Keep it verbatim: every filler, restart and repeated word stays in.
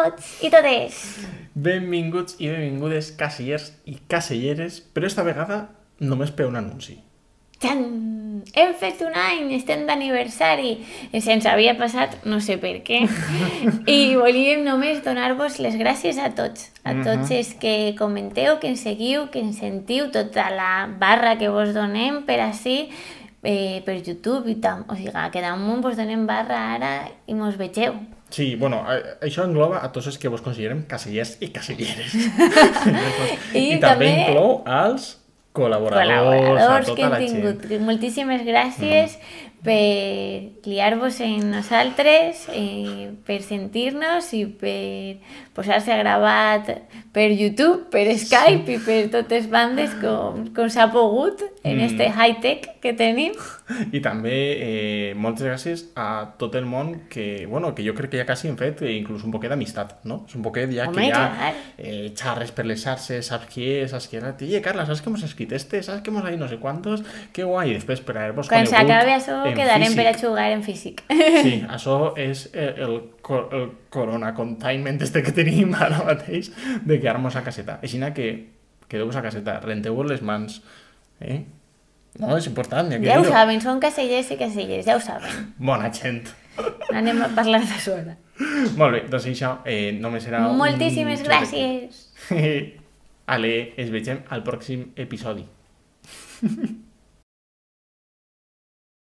tots i totes! Benvinguts i benvingudes casellers i caselleres, però esta vegada només per un anunci. Txan! Hem fet un any, estem d'aniversari. Se'ns havia passat, no sé per què. I volíem només donar-vos les gràcies a tots. A tots els que comenteu, que ens seguiu, que ens sentiu, tota la barra que vos donem per així, eh, per YouTube i tal. O sigui, que damunt vos donem barra ara i mos vegeu. Sí, bueno, això engloba a tots els que vos considerem casellers i caselleres. I, I també inclou als col·laboradors, col·laboradors a tota que hem la tingut. gent. Moltíssimes gràcies mm. per liar-vos en nosaltres, eh, per sentir-nos i per posar-se a gravar per YouTube, per Skype sí. i per totes bandes com, com s'ha pogut en mm. este high-tech que tenim. I també eh, moltes gràcies a tot el món que, bueno, que jo crec que ja quasi hem fet eh, inclús un poquet d'amistat, no? És un poquet ja Home, que ja clar. eh, xarres per les xarxes, saps qui és, saps qui és, oye, Carla, saps que hemos escrit este, saps que hemos ahí no sé cuántos, que guai, i després per haver-vos conegut quan s'acabe això quedarem físic. per a jugar en físic. Sí, això és el, el, el corona containment este que tenim ara mateix de quedar-nos a caseta. Així que quedeu-vos a caseta, renteu-vos les mans, eh? No, és important. Ja ho saben, són casellers i casellers, ja ho saben. Bona gent. Anem a parlar de sola. Molt bé, doncs això eh, només serà un... Moltíssimes gràcies. Ale, es vegem al pròxim episodi.